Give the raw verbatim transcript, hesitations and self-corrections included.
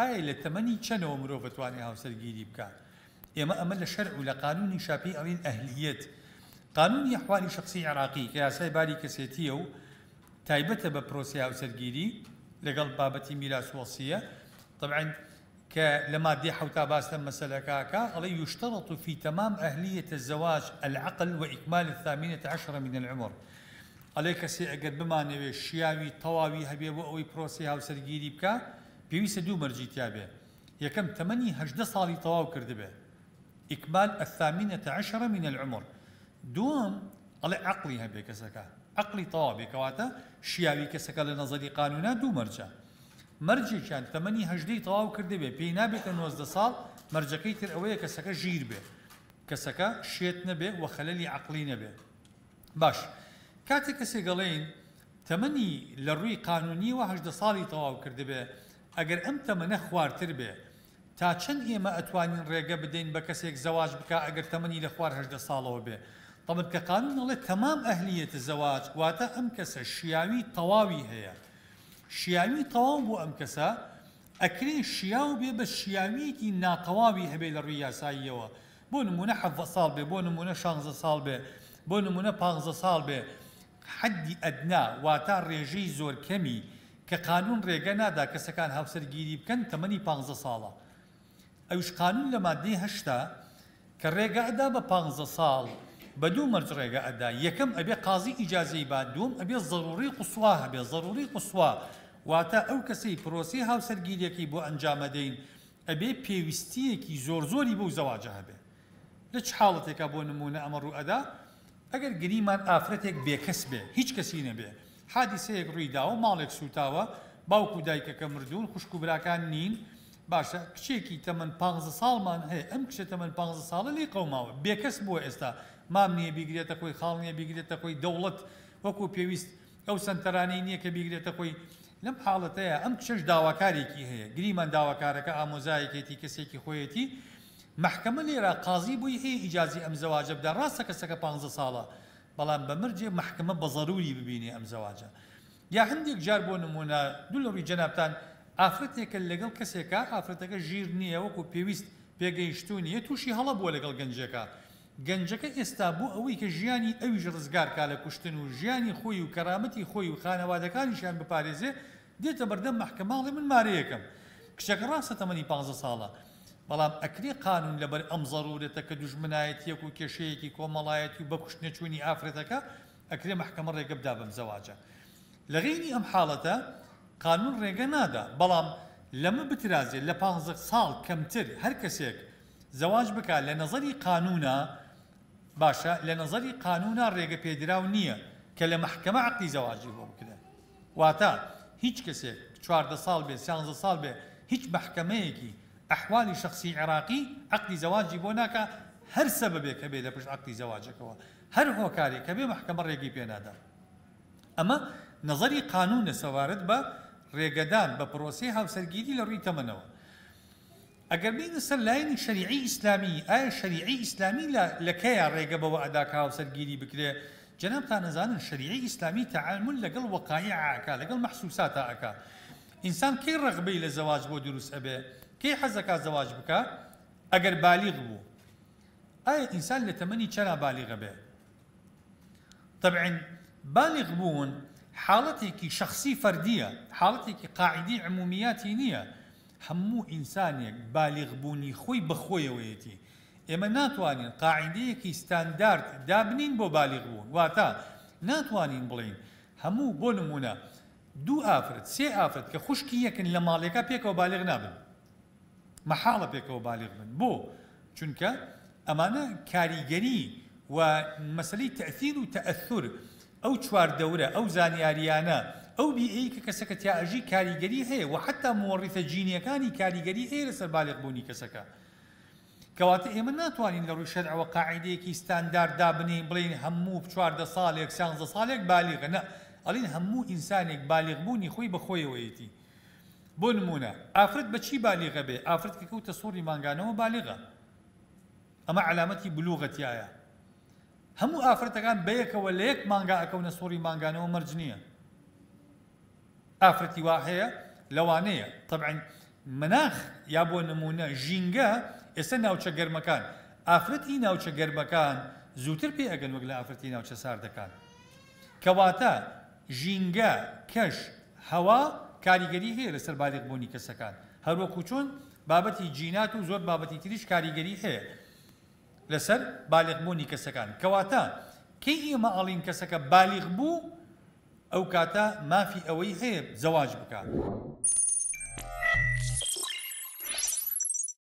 ئایا لە تەمەنی چەنەوە مرۆڤ ئەتوانێ هاوسەرگیری بکا؟ ئێمە ئەمە لە شەرع و لە قانونیشا پێی ئەڵێین ئەهلیەت. قانونی ئەحوالی شەخسی عێراقی کە یاسای باری کەسێتییە و تایبەتە بە پرۆسەی هاوسەرگیری لەگەڵ بابەتی میراس و وەسیە، طبعا کە لە مادەی حەوتا باس لەم مەسەلەکە ئەکا، ئەڵێ یشترط فی تمام اهلیە الزواج العقل واکمال الثامنە عشرە من العمر. ئەڵێ کەسێ ئەگەر بمانەوێ شیاوی تەواوی هەبێ بۆ ئەوەی پرۆسەی هاوسەرگیری بکا، پێویستە دوو مەرجی تیا بێ. یەکەم تەمەنی هەژدە ساڵی تەواو کردبێ، اکمال الثامنە عشرە من العمر. دووەم ئەڵێ عەقڵی هەبێ کەسەکە، عەقڵی تەواو بێ، کەواتە شیاوی کەسەکە لە نەزەری قانونا دوو مەرجە. مەرجێکیان تەمەنی هەژدەی تەواو کردبێ، پێی نابێتە نۆزدە ساڵ، مەرجەکەی تر ئەوەیە کەسەکە ژیر بێ، کەسەکە شێت نەبێ و خەلەلی عەقڵی نەبێ. باش کاتێک کەسێک ئەڵێین تەمەنی لە ڕووی قانونیەوە هەژدە ساڵی تەواو کردبێ، ئەگەر ئەم تەمەنە خوارتر بێ، تا چەند ئێمە ئەتوانین ڕێگە بدەین بە کەسێک زەواج بکا ئەگەر تەمەنی لە خوار هەژدە ساڵەوە بێ؟ طبعا کە قانون ئەڵێ تەمام ئەهلیەت زەواج، واتە ئەم کەسە شیاوی تەواوی هەیە. شیاوی تەواو بۆ ئەم کەسە ئەکرێ شیاو بێ بە شیاویەکی ناتەواوی هەبێ لە ڕووی یاساییەوە. بۆ نمونە حەڤدە ساڵ بێ، بۆ نمونە شانزە ساڵ بێ، بۆ نمونە پانزە ساڵ بێ. حەدی ئەدنا واتە ڕێژەی زۆر کەمی کە قانون ڕێگە نادا کەسەکان هاوسەرگیری بکەن تەمەنی پانزە ساڵە. ئەویش قانون لە مادەی هەشتا کە ڕێگە ئەدا بە پانزە ساڵ بە دوو مەرج ڕێگە ئەدا. یەکەم ئەبێ قازی ئیجازەی با، دووەم ئەبێ زەروری قسوا هەبێ. زەروری قسوا واتە ئەو کەسەی پرۆسەی هاوسەرگیریەکەی بۆ ئەنجامەدەین ئەبێ پێویستیەکی زۆر زۆری بەو زەواجە هەبێ. لە چ حاڵەتێکا بۆ نمونە ئەمە ڕوو ئەدا؟ ئەگەر گریمان ئافرەتێک بێکەس بێ، هیچ کەسی نەبێ، حادیسەیەک ڕووی داوە، ماڵێک سوتاوە، باوک و دایکەکە مردوون، خوشک و براکان نین، باشە کچێکی تەمەن پانزە ساڵمان هەیە، ئەم کچە تەمەن پانزە ساڵە لێی قەوماوە، بێکەس بووە، ئێستا مام نییە بیگرێتە خۆی، خاڵ نییە بیگرێتە خۆی، دەوڵەت وەکو پێویست ئەو سەنتەرانەی نییە کە بیگرێتە خۆی. لەم حاڵەتەیە ئەم کچەش داواکارێکی هەیە، گریمان داواکارەکە ئامۆزایەکێتی، کەسێکی خۆیەتی، محکمە لێرە قازی بۆی هەیە ئیجازی ئەم زەواجە بدا. ڕاستە کەسەکە پانزە ساڵە، بەڵام بە مەرجێ محکمە بە زەروری ببینێ ئەم زەواجە. یا هەندێک جار بۆ نمونە دوو لە ڕووی جەنابتان ئافرەتێکە لەگەڵ کەسێکە، ئافرەتەکە ژیر نییە، وەکو پێویست پێگەیشتوو نییە، تووشی هەڵە بووە لەگەڵ گەنجەکە. گەنجەکە ئێستا بۆ ئەوەی کە ژیانی ئەویش ڕزگار کا لە کوشتن و ژیانی خۆی و کەرامەتی خۆی و خانەوادەکانیشیان بپارێزێ، دێتە بەردەم مەحکەمە ئەڵێ من مارەیەکەم. کچەکە ڕاستە تەمەنی پانزە ساڵە، بەڵام ئەکرێ قانون لەبەر ئەم زەرورەتە کە دوژمنایەتیەک و کێشەیەکی کۆمەڵایەتی و بەکوشتنەچوونی ئافرەتەکە، ئەکرێ مەحکەمە ڕێگە بدا بەم زەواجە. لە غەیری ئەم حاڵەتە قانون ڕێگە نادا، بەڵام لەمە بترازێ لە پانزە ساڵ کەمتر هەر کەسێک زەواج بکا لە نەزەری قانونا، باشە لە نەزەری قانونا ڕێگە پێدراو نییە کە لە مەحکەمە عەقدی زەواجی بۆ بکرێت. واتە هیچ کەسێک چواردە ساڵ بێ، سیانزە ساڵ بێ، هیچ مەحکەمەیەکی ئەحوالی شەخسی عێراقی عەقدی زەواجی بۆ ناکا، هەر سەبەبێک هەبێ لە پشت عەقدی زەواجەکەوە، هەر هۆکارێک هەبێ مەحکەمە ڕێگەی پێ نادا. ئەمە نەزەری قانونە سەبارەت بە ڕێگەدان بە پرۆسەی هاوسەرگیری لە ڕووی تەمەنەوە. ئەگەر بینە سەر لایەنی شەریعی ئیسلامی، ئایا شەریعی ئیسلامی لە کەیا ڕێگە بەوە ئەدا کە هاوسەرگیری بکرێ؟ جەنابتان نەزانن شەریعی ئیسلامی تەعامل لەگەڵ وەقایع ئەکا، لەگەڵ مەحسوساتا ئەکا. ئینسان کەی ڕەغبەی لە زەواج بۆ دروست ئەبێ؟ کەی حەزەکا زەواج بکا؟ ئەگەر بالیغ بوو. ئایا ئینسان لە تەمەنی چەنا بالیغە بێ؟ طبعا بالیغ بوون حاڵەتێکی شەخسی فەردیە، حاڵەتێکی قاعدەی عمومیاتی نییە. هەموو ئینسانێک بالیغ بوونی خۆی بەخۆیەوەیەتی. ئێمە ناتوانین قاعدەیەکی ستاندارد دابنین بۆ بالیغ بوون، واتە ناتوانین بڵێین هەموو بۆ نمونە دوو ئافرەت سێ ئافرەت کە خوشکی یەکن لە ماڵێکا پێکەوە بالیغ نابن، مەحاڵە پێکەوە بالیغ بن. بۆ؟ چونکە ئەمانە کاریگەری و مەسەلەی تەئثیر و تەئەثور، ئەو چوار دەورە، ئەو زانیاریانە، ئەو بیئەی کە کەسەکە تیا ئەژی کاریگەری هەیە و حتا موەڕیثە جینیەکانی کاریگەری هەیە لەسەر بالیغ بوونی کەسەکە. کەواتە ئێمە ناتوانین لە ڕووی شەرعەوە قاعدەیەکی ستاندارد دابنین بڵێین هەموو چواردە ساڵێک سیانزە ساڵێک بالیغە، نە، ئەڵێن هەموو ئینسانێک بالیغ بوونی خۆی بەخۆیەوەیەتی. بۆ نمونە ئافرەت بە چی بالیغە بێ؟ ئافرەت کە کەوتە سوڕی مانگانەوە بالیغە، ئەمە عەلامەتی بلوغە تیایە. هەموو ئافرەتەکان بەیەکەوە لە یەک مانگا ئەکەونە سوڕی مانگانەوە مەرج نییە. ئافرەتی وا هەیە لەوانەیە طبعا مناخ یا بۆ نمونە ژینگە، ئێستا ناوچە گەرمەکان، ئافرەتی ناوچە گەرمەکان زووتر پێ ئەگەن وەک لە ئافرەتی ناوچە ساردەکان. کەواتە ژینگە، کەش، هەوا کاریگەری هەیە لەسەر بالیغبوونی کەسەکان، هەروەکو چۆن بابەتی جینات و زۆر بابەتی تریش کاریگەری هەیە لەسەر بالیغبوونی کەسەکان. کەواتە کەی ئێمە ئەڵین کەسەکە بالیغ بوو، ئەو کاتە مافی ئەوەی هەیە زەواج بکات.